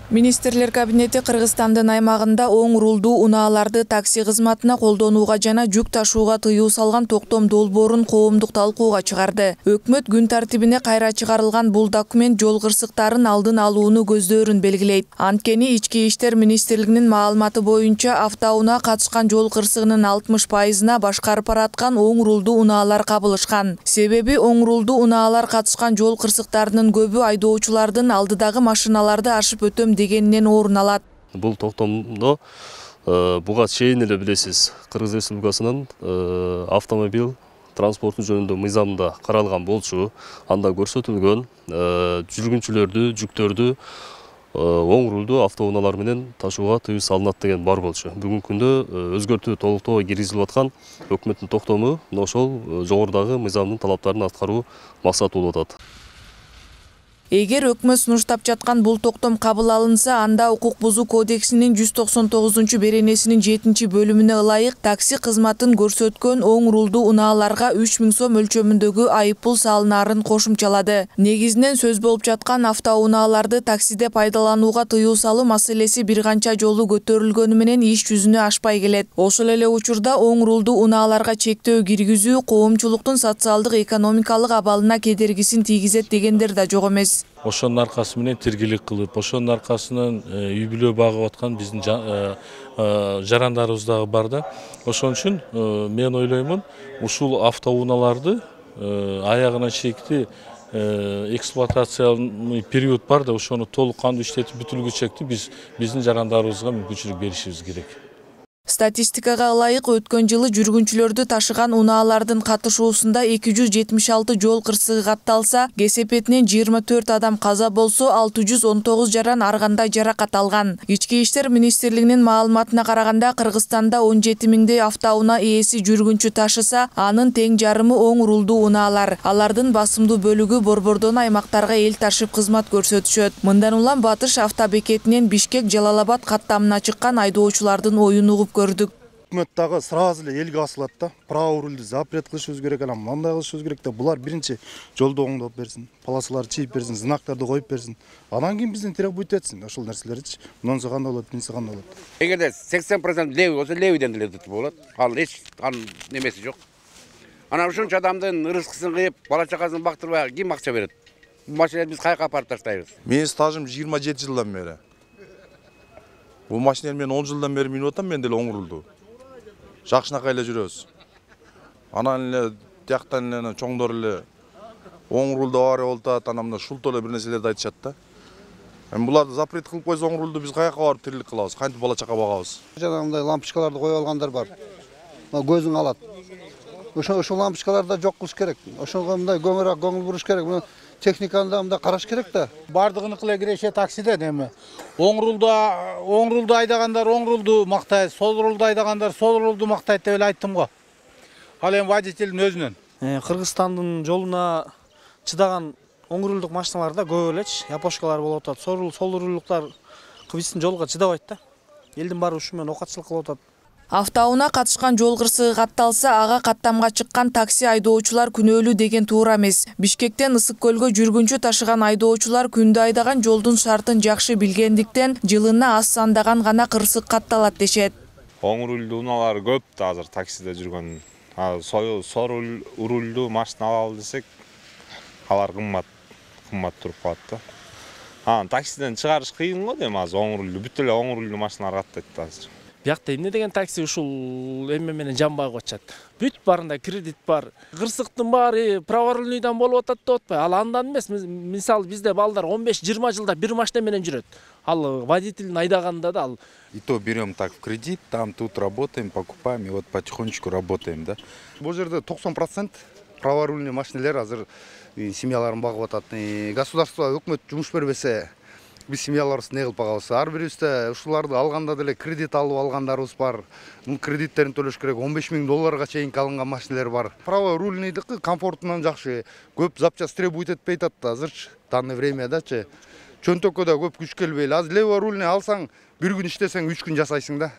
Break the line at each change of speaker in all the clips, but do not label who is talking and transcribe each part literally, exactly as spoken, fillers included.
Министрлер кабинети Кыргызстандын аймагында оң рулдуу унааларды такси кызматына колдонууга жана жүк ташууга тыюу салган токтом долбоорун коомдук талкууга чыгарды. Өкмөт күн тартибине кайра чыгарылган бул документ жол кырсыктарын алдын алууну көздөрүн белгилейт. Анткени Ички иштер министрлигинин маалыматы боюнча автоунаа катышкан жол кырсыгынын алтымыш пайызына башкарып бараткан оң рулдуу унаалар кабылышкан. Себеби оң рулдуу унаалар катышкан жол кырсыктарынын көбү айдоочулардын алдыдагы машиналарды ашып өтөм дегеннен орун алат.
Бул токтомдо буга чейин эле билесиз, Кыргыз Республикасынын автомобиль транспорту жөнүндө мыйзамында каралган болчу. Анда көрсөтүлгөн жүргүнчүлөрдү, жүктөрдү оң рулдуу автоунаалар менен ташууга тыюу салынат деген бар болчу. Бүгүнкү күндө өзгөртүү толуктоо киргизилип аткан өкмөттүн токтому ошол жогорудагы мыйзамдын талаптарын аткаруу максаты болуп атат.
Эгер өкмөт сунуштап жаткан бул токтом кабыл алынса, анда укук бузуу кодексинин жүз токсон тогузунчу беренесинин жетинчи бөлүмүнө ылайык такси кызматын көрсөткөн оң рулдуу унааларга үч миң сом өлчөмүндөгү айыппул салынаарын кошумчалады. Негизинен сөз болуп жаткан автоунааларды таксиде пайдаланууга тыюу салуу маселеси бир канча жолу көтөрүлгөнү менен иш жүзүнө ашпай келет. Ошол эле учурда оң рулдуу унааларга чектөө киргизүү коомчулуктун социалдык экономикалык абалына кедергисин тийгизет дегендер да жок эмес.
Ошонун аркасы менен тиргелик кылып, ошонун аркасынан үй бүлө багып аткан биздин жарандарыбыз дагы бар да. Ошон үчүн мен ойлоймун, ушул автоунааларды аягына чейинки эксплуатациялык период бар да, ошону толук кандуу иштетип бүтүлгүчө биз биздин жарандарыбызга мүмкүнчүлүк беришибиз керек.
Статистикага ылайык өткөн жылы жүргүнчүлөрдү ташыган унаалардын катышуусунда эки жүз жетимиш алты жол кырсыгы катталса, кесепетинен жыйырма төрт адам каза болсо, алты жүз он тогуз жаран ар кандай жаракат алган. Ички иштер министрлигинин маалыматына караганда, Кыргызстанда он жети миңдей автоунаа ээси жүргүнчү ташыса, анын тең жарымы оң рулдуу унаалар. Алардын басымдуу бөлүгү борбордон аймактарга эл ташып кызмат көрсөтүшөт. Мындан улам Батыш автобекетинен Бишкек Жалалабад каттамына чыккан айдоочулардын оюн угуп көрдүк.
Өкмөт дагы сразу эле элге асылат да. Право рульду запрет кылышыбыз керек, анан мындай кылышыбыз керек да. Булар биринчи жолду оңдоп берсин, полосаларды чийип берсин, знактарды коюп берсин. Анан кийин бизден требует этсин ошол нерселерди. Мынунсу кандай болот, биринчи кандай болот.
Эгерде сексен процент левый болсо, левыйден деле өтүп болот. Ал эч анын немеси жок. Анан ушунча адамдын ырыскысын кыйып, бала чакасын бактырбай ким акча берет? Бул машинени биз каяка апарып таштайбыз?
Менин стажым жыйырма жети жылдан бери. Бул машинени мен он жылдан бери минип атам, мен деле оң рулду. Жакшынакай эле жүрөбүз. Анан эле тияктан эле чоңдор эле оң рулду авария болуп атат, анан мына шултоо эле бир нерселерди айтышат да. Эми буларды запрет кылып койсо оң рулду биз каяка барып тирилик кылабыз, кантип бала чака багабыз?
Жанагындай лампочкаларды коюп алгандар бар. Көзүң алат. Ошо ошол лампочкаларды жок кылыш керек. Ошого мындай көмөрөөк көңүл буруш керек. Техниканы да мындай караш керек да.
Бардыгыныкы эле киреше таксиден эми. Оң рулду оң рулду айдагандар оң рулду мактайт, сол рулду айдагандар сол рулду мактайт деп эле айттым го. Ал эми водителдин өзүнөн.
Кыргызстандын жолуна чыдаган оң рулдук машиналарда көп элечи япошкалар болуп атат. Сол рул сол рулдуктар биздин жолго чыдабайт да. Элдин баары ушу менен окатчылык кылып атат.
Автоунаа катышкан жол кырсыгы катталса, ага каттамга чыккан такси айдоочулар күнөөлүү деген туура эмес. Бишкектен Ысык көлгө жүргүнчү ташыган айдоочулар күндө айдаган жолдун шартын жакшы билгендиктен, жылына аз сандаган гана кырсык катталат дешет.
Оң рулдуу унаалар көп да азыр таксиде жүргөн. Сол рулдуу машина алалы десек, алар кымбат, кымбат туруп калат да. Анан таксиден чыгарыш кыйын го дейм, азыр оң рулдуу, бүт эле оң рулдуу машиналар каттайт да азыр.
Биякта эмне деген такси ушул эме менен жанбай коечат. Бүт барында кредит бар. Кырсыктын баары праворульныйдан болуп атат деп атпайбы? Ал андан эмес. Мисалы бизде балдар он беш жыйырма жылда бир машина менен жүрөт. Ал водителин айдаганда да ал.
И то берем так в кредит, там тут работаем, покупаем и вот потихонечку работаем, да.
Бул жерде токсон процент праворульный машиналар азыр семьяларын багып атат. Государство, өкмөт жумуш бербесе, биз семьяларыбызды не кылып багабыз? Ар бирибизде ушуларды алганда деле кредит алып алгандарыбыз бар. Бул кредиттерин төлөш керек. он беш миң долларга чейинки алынган машиналар бар. Праворульныйдыкы комфортунан жакшы. Көп запчас требует этпей атат да азырчы. Данный времядачы. Чөнтөккө да көп күч келбей эле. Азыр леворульный алсаң, бир күн иштесең үч күн жасайсың да.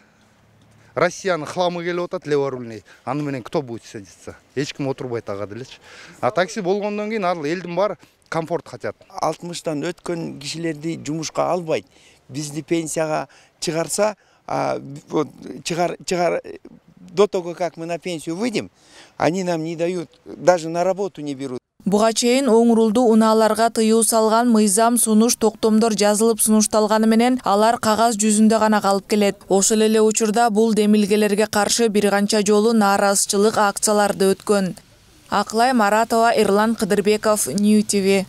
Россиянын хламы келип атат леворульный. Аны менен кто будет садиться? Эч ким отурбайт ага делечи. А такси болгондон кийин ал элдин бар комфорт хотят.
алтымыштан өткөн кишилерди жумушка албайт. Бизди пенсияга чыгарса, вот чыгар чыгар до того, как мы на пенсию выйдем, они нам не дают, даже на работу не берут.
Буга чейин оң рулду унааларга тыюу салган мыйзам сунуш токтомдор жазылып сунушталганы менен алар кагаз жүзүндө гана калып келет. Ошол эле учурда бул демилгелерге каршы бир канча жолу нааразычылык акцияларды өткөн. Аклай Маратова, Эрлан Кыдырбеков, Нью ти ви.